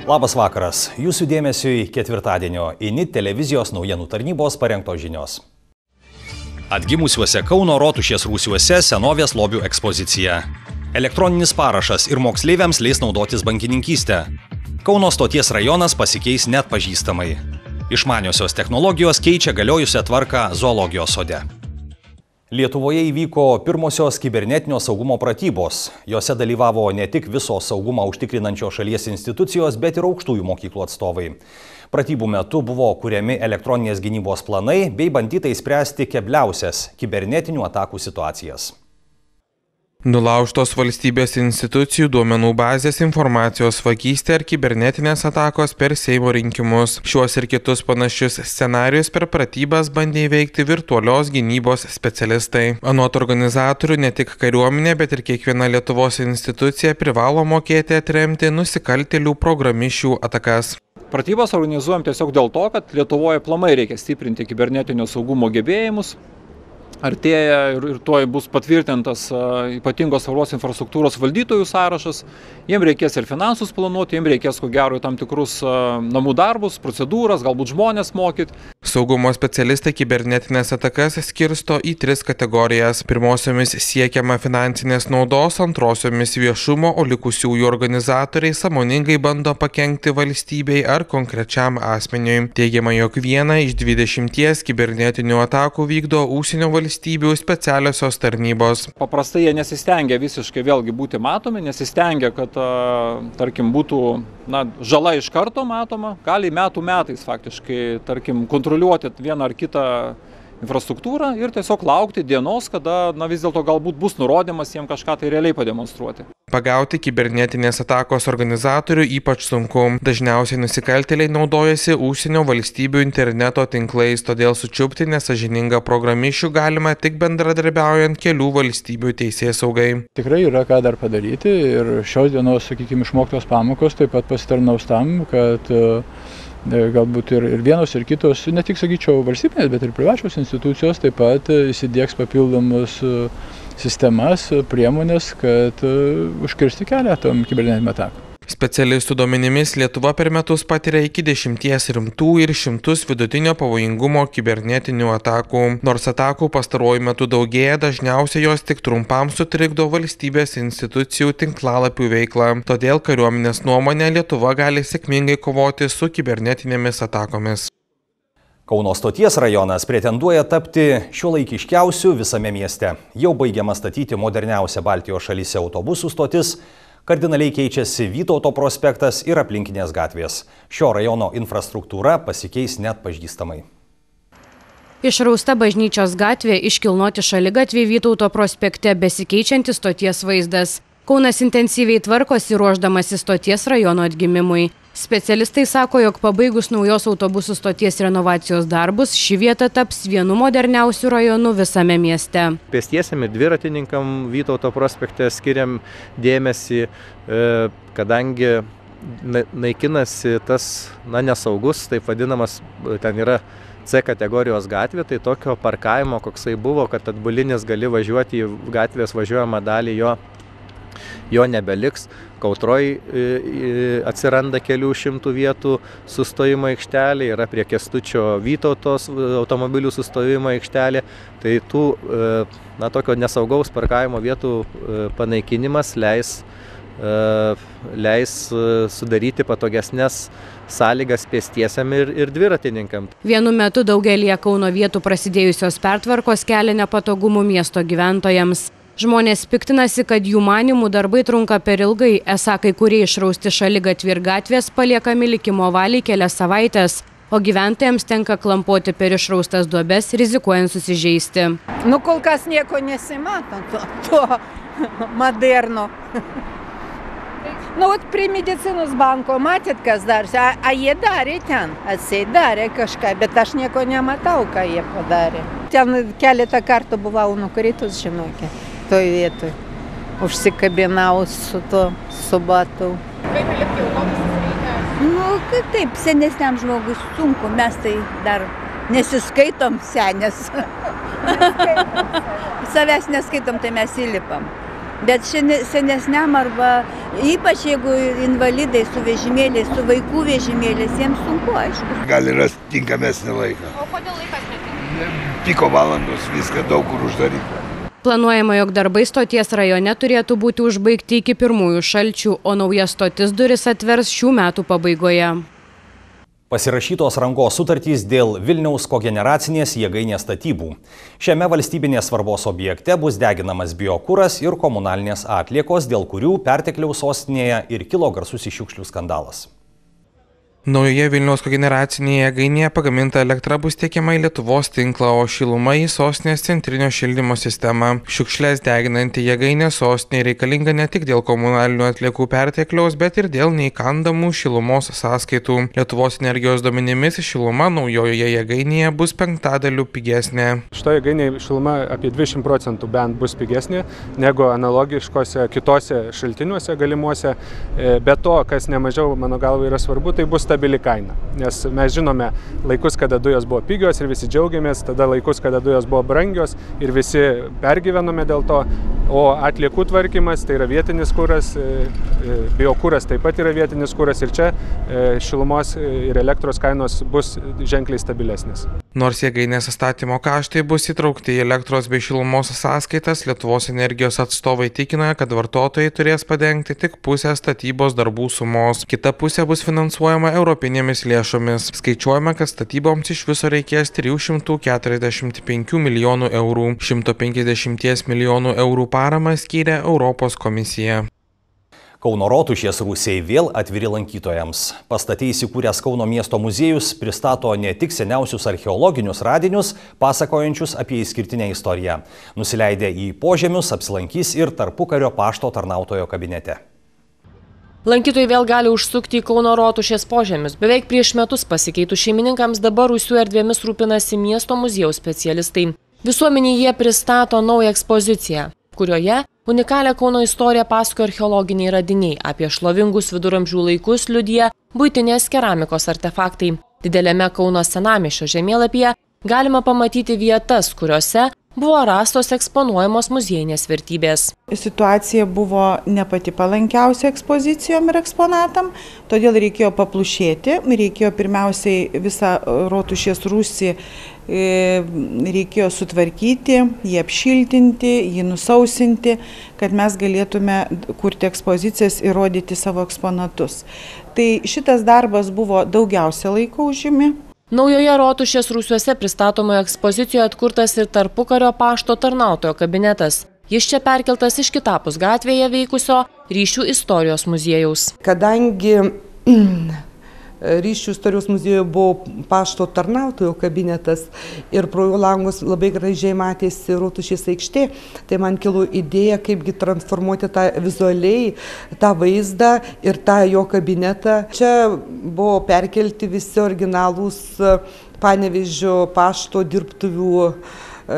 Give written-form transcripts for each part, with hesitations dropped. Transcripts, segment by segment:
Labas vakaras. Jūsų dėmesiui ketvirtadienio INIT televizijos naujienų tarnybos parengtos žinios. Atgimusiuose Kauno Rotušės rūsiuose senovės lobių ekspozicija. Elektroninis parašas ir moksleiviams leis naudotis bankininkystę. Kauno stoties rajonas pasikeis net pažįstamai. Išmaniosios technologijos keičia galiojusią tvarką zoologijos sode. Lietuvoje įvyko pirmosios kibernetinio saugumo pratybos. Jose dalyvavo ne tik visos saugumą užtikrinančios šalies institucijos, bet ir aukštųjų mokyklų atstovai. Pratybų metu buvo kuriami elektroninės gynybos planai bei bandyta išspręsti kebliausias kibernetinių atakų situacijas. Nulaužtos valstybės institucijų duomenų bazės, informacijos vagystė ir kibernetinės atakos per Seimo rinkimus. Šiuos ir kitus panašius scenarijus per pratybas bandė įveikti virtualios gynybos specialistai. Anot organizatorių, ne tik kariuomenė, bet ir kiekviena Lietuvos institucija privalo mokėti atremti nusikaltėlių programišių atakas. Pratybas organizuojam tiesiog dėl to, kad Lietuvoje aplamai reikia stiprinti kibernetinio saugumo gebėjimus. Artėja ir tuoj bus patvirtintas ypatingos svarbos infrastruktūros valdytojų sąrašas. Jiems reikės ir finansus planuoti, jiems reikės ko gero tam tikrus namų darbus, procedūras, galbūt žmonės mokyti. Saugumo specialistai kibernetinės atakas skirsto į 3 kategorijas. Pirmosiomis siekiama finansinės naudos, antrosiomis viešumo, o likusiųjų organizatoriai sąmoningai bando pakenkti valstybei ar konkrečiam asmeniui. Teigiama, jog vieną iš 20 kibernetinių atakų vykdo užsienio valstybių specialiosios tarnybos. Paprastai jie nesistengia visiškai vėlgi būti matomi, nesistengia, kad, tarkim, būtų žala iš karto matoma. Gali metų metais faktiškai, tarkim, kontroliuoti vieną ar kitą infrastruktūrą ir tiesiog laukti dienos, kada vis dėlto galbūt bus nurodymas jiems kažką tai realiai pademonstruoti. Pagauti kibernetinės atakos organizatorių ypač sunku. Dažniausiai nusikaltėliai naudojasi užsienio valstybių interneto tinklais, todėl sučiupti nesąžiningą programišių galima tik bendradarbiaujant kelių valstybių teisėsaugai. Tikrai yra ką dar padaryti ir šios dienos, sakykime, išmoktos pamokos taip pat pasitarnaus tam, kad galbūt ir vienos ir kitos, ne tik, sakyčiau, valstybinės, bet ir privačios institucijos taip pat įsidiegs papildomus sistemas, priemonės, kad užkirsti kelią tom kibernetiniam atakam. Specialistų duomenimis Lietuva per metus patiria iki 10 rimtų ir 100 vidutinio pavojingumo kibernetinių atakų. Nors atakų pastaruoju metu daugėja, dažniausiai jos tik trumpam sutrikdo valstybės institucijų tinklalapių veiklą. Todėl kariuomenės nuomonė Lietuva gali sėkmingai kovoti su kibernetinėmis atakomis. Kauno stoties rajonas pretenduoja tapti šiuolaikiškiausiu visame mieste. Jau baigiama statyti moderniausia Baltijos šalyse autobusų stotis. Kardinaliai keičiasi Vytauto prospektas ir aplinkinės gatvės. Šio rajono infrastruktūra pasikeis net pažįstamai. Išrausta bažnyčios gatvė, iškilnoti šaligatvė Vytauto prospekte, besikeičiantis stoties vaizdas. Kaunas intensyviai tvarkosi ruošdamasi stoties rajono atgimimui. Specialistai sako, jog pabaigus naujos autobusų stoties renovacijos darbus, ši vieta taps vienu moderniausių rajonų visame mieste. Pėstiesiam ir dviratininkam Vytauto prospekte skiriam dėmesį, kadangi naikinasi tas nesaugus, taip vadinamas, ten yra C kategorijos gatvė, tai tokio parkavimo, koksai buvo, kad atbulinis gali važiuoti į gatvės važiuojamą dalį, jo nebeliks. Kautroj atsiranda kelių šimtų vietų sustojimo aikštelė, yra prie Kęstučio Vytautos automobilių sustojimo aikštelė. Tai tų tokio nesaugaus parkavimo vietų panaikinimas leis sudaryti patogesnes sąlygas pėstiesiam ir dviratininkam. Vienu metu daugelį Kauno vietų prasidėjusios pertvarkos kelia nepatogumų miesto gyventojams. Žmonės piktinasi, kad jų manimų darbai trunka per ilgai, esą kai kurie išrausti šaligatvį ir gatvės paliekami likimo valiai kelias savaitės, o gyventojams tenka klampoti per išraustas duobes, rizikuojant susižeisti. Kol kas nieko nesimato, to moderno. Prie medicinos banko matėt, kas darė, jie darė ten, darė kažką, bet aš nieko nematau, ką jie padarė. Ten keletą kartų buvau nukritus, žinokit. Toj vietoj. Užsikabinau su batu. Kaip lipti autobusas reikia? Taip, senesniam žmogui sunku, mes tai dar nesiskaitom senės. Savęs neskaitom, tai mes įlipam. Bet senesniam arba ypač jeigu invalidai su vežimėliais, su vaikų vežimėliais, jiems sunku, aišku. Gali rasti tinkamesnį laiką. O kodėl laikas netinka? Piko valandos, viską daug kur uždaryta. Planuojama, jog darbai stoties rajone turėtų būti užbaigti iki pirmųjų šalčių, o nauja stotis duris atvers šių metų pabaigoje. Pasirašytos rangos sutartys dėl Vilniaus kogeneracinės jėgainės statybų. Šiame valstybinės svarbos objekte bus deginamas biokuras ir komunalinės atliekos, dėl kurių pertekliaus sostinėje ir kilo garsus šiukšlių skandalas. Naujoje Vilniaus kogeneracinėje jėgainėje pagaminta elektra bus tiekiama į Lietuvos tinklą, o šiluma į sostinės centrinio šildymo sistemą. Šiukšles deginanti jėgainė sostinėje reikalinga ne tik dėl komunalinių atliekų pertekliaus, bet ir dėl neįkandamų šilumos sąskaitų. Lietuvos energijos duomenimis šiluma naujojoje jėgainėje bus 5% pigesnė. Šitoje jėgainėje šiluma apie 20% bent bus pigesnė negu analogiškose kitose šaltiniuose galimuose. Be to, kas nemažiau, mano galva, yra svarbu, tai bus stabili kaina, nes mes žinome laikus, kada dujos buvo pigios ir visi džiaugiamės, tada laikus, kada dujos buvo brangios ir visi pergyvenome dėl to, o atliekų tvarkymas tai yra vietinis kuras, biokuras taip pat yra vietinis kuras ir čia šilumos ir elektros kainos bus ženkliai stabilesnės. Nors jėgainės statymo kaštai bus įtraukti į elektros bei šilumos sąskaitas, Lietuvos energijos atstovai tikina, kad vartotojai turės padengti tik pusę statybos darbų sumos. Kita pusė bus finansuojama europinėmis lėšomis. Skaičiuojama, kad statyboms iš viso reikės 345 milijonų eurų. 150 milijonų eurų paramą skyrė Europos komisija. Kauno rotušės rūsiai vėl atviri lankytojams. Pastate įsikūręs Kauno miesto muziejus pristato ne tik seniausius archeologinius radinius, pasakojančius apie išskirtinę istoriją. Nusileidę į požemius apsilankys ir tarpukario pašto tarnautojo kabinete. Lankytojai vėl gali užsukti į Kauno rotušės požemius. Beveik prieš metus pasikeitus šeimininkams dabar rūsių erdvėmis rūpinasi miesto muziejaus specialistai. Visuomeniai jie pristato naują ekspoziciją, kurioje unikalią Kauno istoriją pasakoja archeologiniai radiniai. Apie šlovingus viduramžių laikus liudija buitinės keramikos artefaktai. Dideliame Kauno senamiesčio žemėlapyje galima pamatyti vietas, kuriuose buvo rastos eksponuojamos muziejinės vertybės. Situacija buvo ne pati palankiausia ekspozicijom ir eksponatam, todėl reikėjo paplušėti, reikėjo pirmiausiai visą rotušės rūsį reikėjo sutvarkyti, jį apšiltinti, jį nusausinti, kad mes galėtume kurti ekspozicijas ir rodyti savo eksponatus. Tai šitas darbas buvo daugiausia laiko užimi. Naujoje rotušės rūsiuose pristatomoje ekspozicijoje atkurtas ir tarpukario pašto tarnautojo kabinetas. Jis čia perkeltas iš kitapus gatvėje veikusio Ryšių istorijos muziejaus. Kadangi Ryšių istorijos muziejuje buvo pašto tarnautojo kabinetas ir pro jo langus labai gražiai matėsi Rotušės aikštė, tai man kilo idėja, kaipgi transformuoti tą vizualiai, tą vaizdą ir tą jo kabinetą. Čia buvo perkelti visi originalūs Panevėžio pašto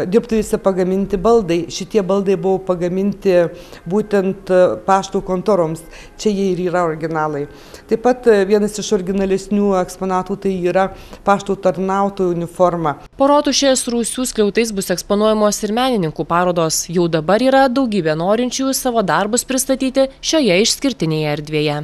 dirbtuvėse pagaminti baldai. Šitie baldai buvo pagaminti būtent pašto kontoroms. Čia jie ir yra originalai. Taip pat vienas iš originalesnių eksponatų tai yra pašto tarnautojų uniforma. Po rotušės rūsių skliautais bus eksponuojamos ir menininkų parodos. Jau dabar yra daugybė norinčių savo darbus pristatyti šioje išskirtinėje erdvėje.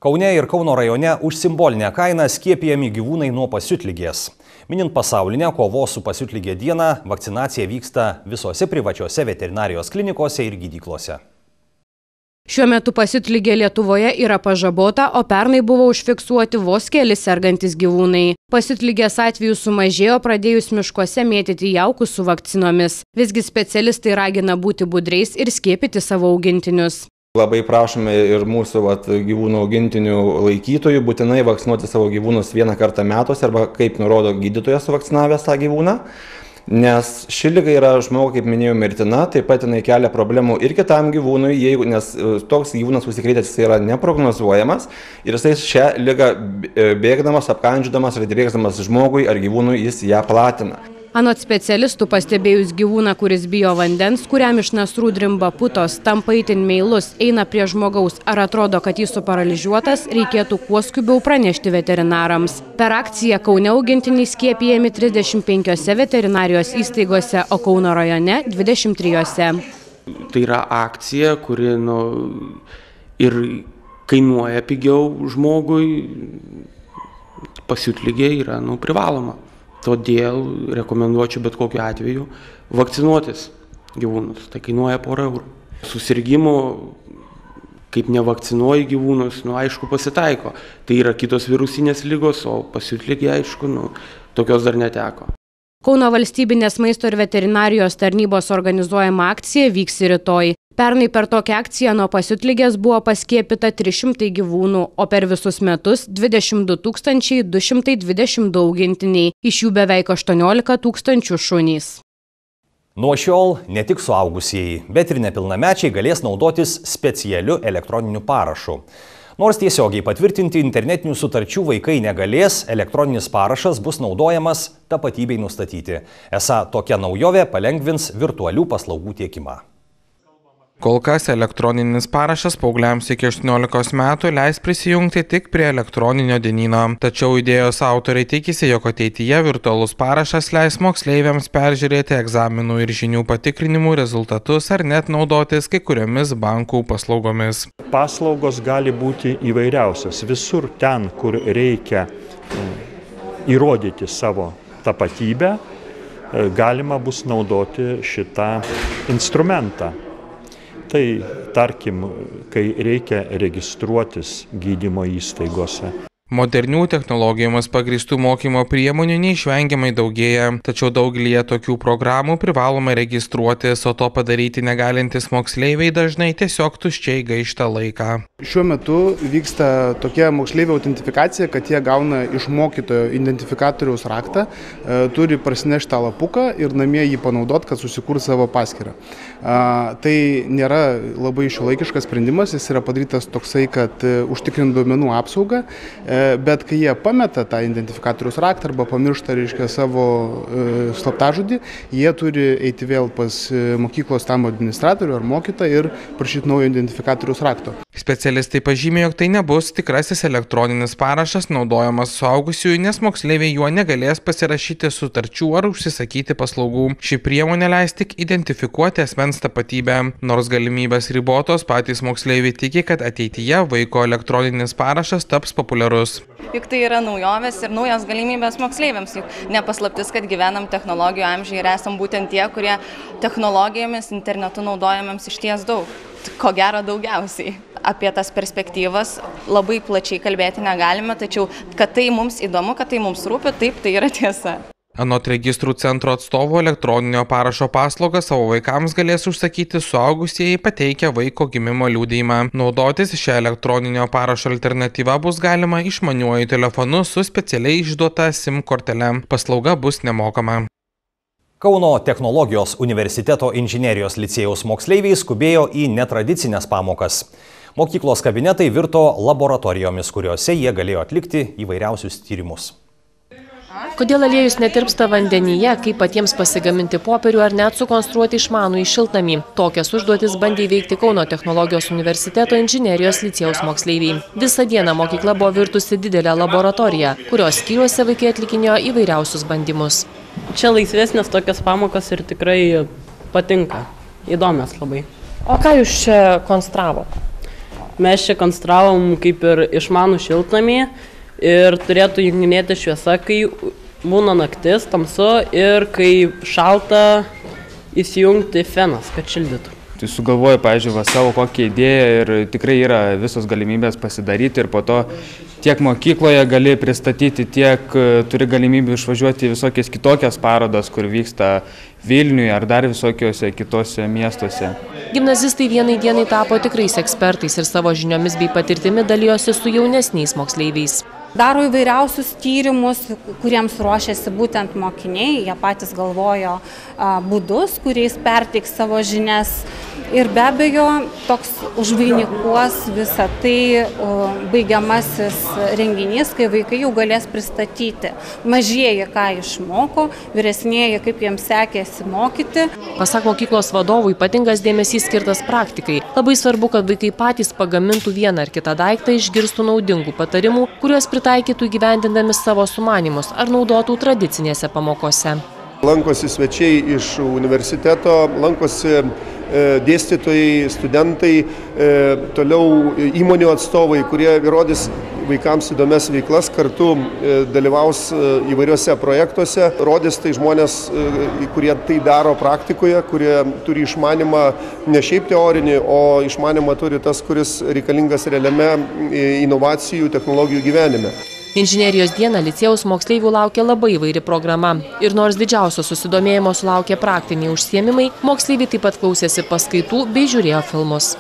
Kaune ir Kauno rajone už simbolinę kainą skiepijami gyvūnai nuo pasiutligės. Minint pasaulinę kovos su pasiutligė dieną, vakcinacija vyksta visose privačiose veterinarijos klinikose ir gydyklose. Šiuo metu pasiutligė Lietuvoje yra pažabota, o pernai buvo užfiksuoti vos keli sergantis gyvūnai. Pasiutligės atvejų sumažėjo pradėjus miškuose mėtyti jaukus su vakcinomis. Visgi specialistai ragina būti budriais ir skiepyti savo augintinius. Labai prašome ir mūsų gyvūnų augintinių laikytojų būtinai vakcinuoti savo gyvūnus vieną kartą metuose arba kaip nurodo gydytojas suvakcinavęs tą gyvūną, nes ši liga yra žmogui, kaip minėjau, mirtina, taip pat jinai kelia problemų ir kitam gyvūnui, nes toks gyvūnas užsikrėtęs yra neprognozuojamas ir jisai šią ligą bėgdamas, apkandžiodamas ar drėksdamas žmogui ar gyvūnui jis ją platina. Anot specialistų, pastebėjus gyvūną, kuris bijo vandens, kuriam iš nasrų drimba putos, tampa itin meilus, eina prie žmogaus ar atrodo, kad jis suparalyžiuotas, reikėtų kuo skubiau pranešti veterinarams. Per akciją Kaune augintiniai skiepijami 35 veterinarijos įstaigose, o Kauno rajone 23. Tai yra akcija, kuri ir kainuoja pigiau žmogui, pasiutligė yra privaloma. Todėl rekomenduočiau bet kokiu atveju vakcinuotis gyvūnus. Tai kainuoja porą eurų. Susirgimų, kaip nevakcinuoji gyvūnus, aišku, pasitaiko. Tai yra kitos virusinės ligos, o pasiutligė, aišku, tokios dar neteko. Kauno valstybinės maisto ir veterinarijos tarnybos organizuojama akcija vyks rytoj. Pernai per tokią akciją nuo pasiutligės buvo paskiepyta 300 gyvūnų, o per visus metus 22 222 augintiniai, iš jų beveik 18 000 šunys. Nuo šiol ne tik suaugusieji, bet ir nepilnamečiai galės naudotis specialiu elektroniniu parašu. Nors tiesiogiai patvirtinti internetinių sutarčių vaikai negalės, elektroninis parašas bus naudojamas tapatybei nustatyti. Esą tokia naujovė palengvins virtualių paslaugų tiekimą. Kol kas elektroninis parašas paaugliams iki 18 metų leis prisijungti tik prie elektroninio dienyno. Tačiau idėjos autoriai tikisi, jog ateityje virtualus parašas leis moksleiviams peržiūrėti egzaminų ir žinių patikrinimų rezultatus ar net naudotis kai kuriomis bankų paslaugomis. Paslaugos gali būti įvairiausios. Visur ten, kur reikia įrodyti savo tapatybę, galima bus naudoti šitą instrumentą. Tai, tarkim, kai reikia registruotis gydymo įstaigose. Modernių technologijomis pagrįstų mokymo priemonių neišvengiamai daugėja, tačiau daugelyje tokių programų privaloma registruotis, o to padaryti negalintys moksleiviai dažnai tiesiog tuščiai gaišta laiką. Šiuo metu vyksta tokia moksleivių autentifikacija, kad jie gauna iš mokytojo identifikatoriaus raktą, turi prasinešti tą lapuką ir namie jį panaudoti, kad susikurs savo paskyrą. Tai nėra labai šiuolaikiškas sprendimas, jis yra padarytas toksai, kad užtikrina duomenų apsaugą. Bet kai jie pameta tą identifikatoriaus raktą arba pamiršta, savo slaptažodį, jie turi eiti vėl pas mokyklos tam administratorių ar mokytoją ir prašyti naujo identifikatoriaus rakto. Specialistai pažymė, jog tai nebus tikrasis elektroninis parašas naudojamas suaugusiųjų, nes moksleiviai juo negalės pasirašyti sutarčių ar užsisakyti paslaugų. Ši priemonė leis tik identifikuoti asmens tapatybę. Nors galimybės ribotos, patys moksleiviai tiki, kad ateityje vaiko elektroninis parašas taps populiarus. Juk tai yra naujovės ir naujos galimybės moksleiviams. Juk nepaslaptis, kad gyvenam technologijų amžiuje ir esam būtent tie, kurie technologijomis, internetu naudojamėms išties daug. Ko gero daugiausiai. Apie tas perspektyvas labai plačiai kalbėti negalime, tačiau kad tai mums įdomu, kad tai mums rūpi, taip, tai yra tiesa. Anot registrų centro atstovo, elektroninio parašo paslaugą savo vaikams galės užsakyti suaugusieji pateikę vaiko gimimo liudijimą. Naudotis šią elektroninio parašo alternatyvą bus galima išmaniuoju telefonu su specialiai išduota SIM kortele. Paslauga bus nemokama. Kauno technologijos universiteto inžinerijos licėjaus moksleiviai skubėjo į netradicinės pamokas. Mokyklos kabinetai virto laboratorijomis, kuriuose jie galėjo atlikti įvairiausius tyrimus. Kodėl aliejus netirpsta vandenyje, kaip patiems pasigaminti popierių ar net sukonstruoti išmanų į šiltnamį. Tokias užduotis bandė įveikti Kauno technologijos universiteto inžinerijos licėjaus moksleiviai. Visą dieną mokykla buvo virtusi didelę laboratoriją, kurios skyriuose vaikai atlikinėjo įvairiausius bandymus. Čia laisvesnės tokias pamokas ir tikrai patinka, įdomios labai. O ką jūs čia konstravote? Mes čia konstravom kaip ir išmanų šiltnamį. Ir turėtų junginėti šviesa, kai būna naktis, tamsu ir kai šalta įsijungti fenas, kad šildytų. Tai sugalvoju, pavyzdžiui, savo kokią idėją ir tikrai yra visos galimybės pasidaryti ir po to tiek mokykloje gali pristatyti, tiek turi galimybę išvažiuoti į visokias kitokias parodas, kur vyksta Vilniuje ar dar visokiuose kitose miestuose. Gimnazistai vienai dienai tapo tikrais ekspertais ir savo žiniomis bei patirtimi dalijosi su jaunesniais moksleiviais. Daro įvairiausius tyrimus, kuriems ruošiasi būtent mokiniai, jie patys galvojo būdus, kuriais perteiks savo žinias. Ir be abejo, toks užvainikuos visą tai baigiamasis renginys, kai vaikai jau galės pristatyti. Mažieji, ką išmoko, vyresnieji, kaip jiems sekėsi mokyti. Pasak mokyklos vadovų, ypatingas dėmesys skirtas praktikai. Labai svarbu, kad vaikai patys pagamintų vieną ar kitą daiktą, išgirstų naudingų patarimų, kuriuos pritaikytų įgyvendindami savo sumanymus ar naudotų tradicinėse pamokose. Lankosi svečiai iš universiteto, lankosi dėstytojai, studentai, toliau įmonių atstovai, kurie įrodys vaikams įdomias veiklas, kartu dalyvaus įvairiuose projektuose, rodys tai žmonės, kurie tai daro praktikoje, kurie turi išmanimą ne šiaip teorinį, o išmanimą turi tas, kuris reikalingas realiame inovacijų, technologijų gyvenime. Inžinerijos dieną licėjaus moksleivių laukia labai įvairi programa. Ir nors didžiausio susidomėjimo sulaukė praktiniai užsiėmimai, moksleiviai taip pat klausėsi paskaitų bei žiūrėjo filmus.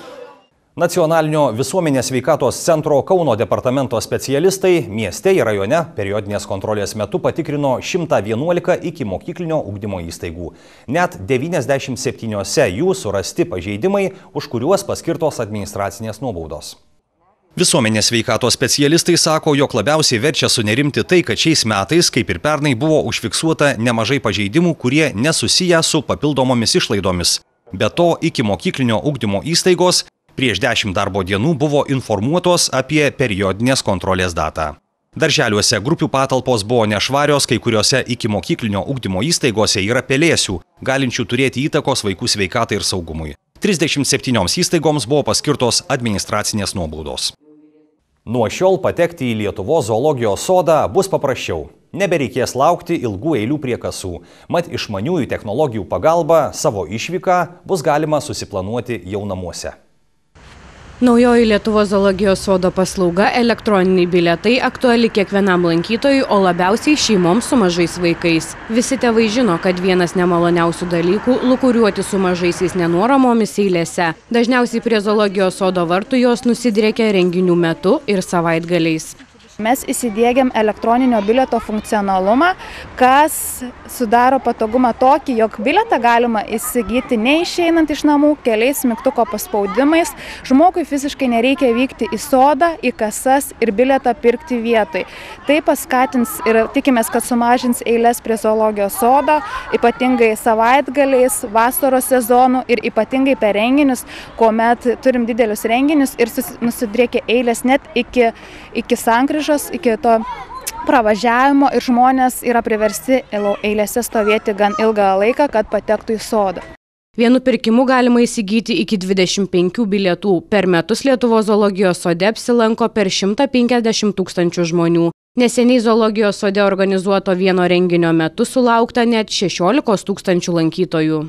Nacionalinio visuomenės sveikatos centro Kauno departamento specialistai mieste ir rajone periodinės kontrolės metu patikrino 111 ikimokyklinio ugdymo įstaigų. Net 97 jų surasti pažeidimai, už kuriuos paskirtos administracinės nuobaudos. Visuomenės sveikatos specialistai sako, jog labiausiai verčia sunerimti tai, kad šiais metais, kaip ir pernai, buvo užfiksuota nemažai pažeidimų, kurie nesusiję su papildomomis išlaidomis. Be to, ikimokyklinio ugdymo įstaigos prieš 10 darbo dienų buvo informuotos apie periodinės kontrolės datą. Darželiuose grupių patalpos buvo nešvarios, kai kuriuose ikimokyklinio ugdymo įstaigose yra pelėsių, galinčių turėti įtakos vaikų sveikatai ir saugumui. 37 įstaigoms buvo paskirtos administracinės nuobaudos. Nuo šiol patekti į Lietuvos zoologijos sodą bus paprasčiau. Nebereikės laukti ilgų eilių prie kasų. Mat išmaniųjų technologijų pagalba savo išvyką bus galima susiplanuoti jau namuose. Naujoji Lietuvos zoologijos sodo paslauga elektroniniai bilietai aktuali kiekvienam lankytojui, o labiausiai šeimoms su mažais vaikais. Visi tėvai žino, kad vienas nemaloniausių dalykų – lūkuriuoti su mažaisiais nenuoramomis eilėse. Dažniausiai prie zoologijos sodo vartų jos nusidriekia renginių metu ir savaitgaliais. Mes įsidiegiam elektroninio bilieto funkcionalumą, kas sudaro patogumą tokį, jog bilietą galima įsigyti neišeinant iš namų, keliais mygtuko paspaudimais. Žmogui fiziškai nereikia vykti į sodą, į kasas ir bilietą pirkti vietoj. Tai paskatins ir tikimės, kad sumažins eilės prie zoologijos sodo, ypatingai savaitgaliais, vasaros sezonų ir ypatingai per renginius, kuomet turim didelius renginius ir nusidriekia eilės net iki sankryžos, iki to pravažiavimo ir žmonės yra priversti eilėse stovėti gan ilgą laiką, kad patektų į sodą. Vienu pirkimu galima įsigyti iki 25 bilietų. Per metus Lietuvos zoologijos sode apsilanko per 150 000 žmonių. Neseniai zoologijos sode organizuoto vieno renginio metu sulaukta net 16 000 lankytojų.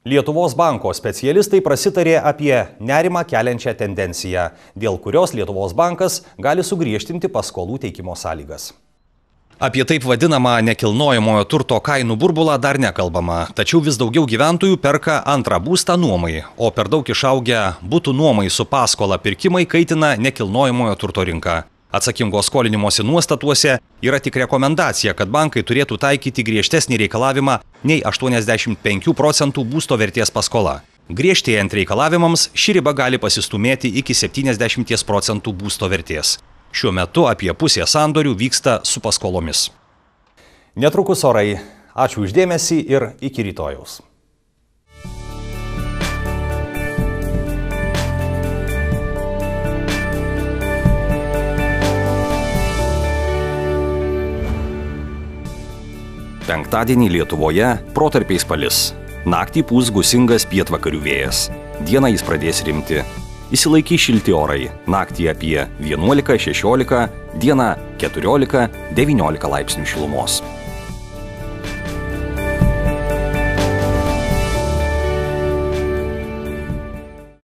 Lietuvos banko specialistai prasitarė apie nerimą keliančią tendenciją, dėl kurios Lietuvos bankas gali sugriežtinti paskolų teikimo sąlygas. Apie taip vadinamą nekilnojamojo turto kainų burbulą dar nekalbama, tačiau vis daugiau gyventojų perka antrą būstą nuomai, o per daug išaugę butų nuomai su paskola pirkimai kaitina nekilnojamojo turto rinką. Atsakingo skolinimosi nuostatuose yra tik rekomendacija, kad bankai turėtų taikyti griežtesnį reikalavimą nei 85% būsto vertės paskola. Griežtėjant reikalavimams, ši riba gali pasistumėti iki 70% būsto vertės. Šiuo metu apie pusė sandorių vyksta su paskolomis. Netrukus orai. Ačiū už dėmesį ir iki rytojaus. Penktadienį Lietuvoje protarpiais palis. Naktį pūs gūsingas pietvakarių vėjas. Dieną jis pradės rimti. Išsilaikys šilti orai. Naktį apie 11-16, dieną 14-19 laipsnių šilumos.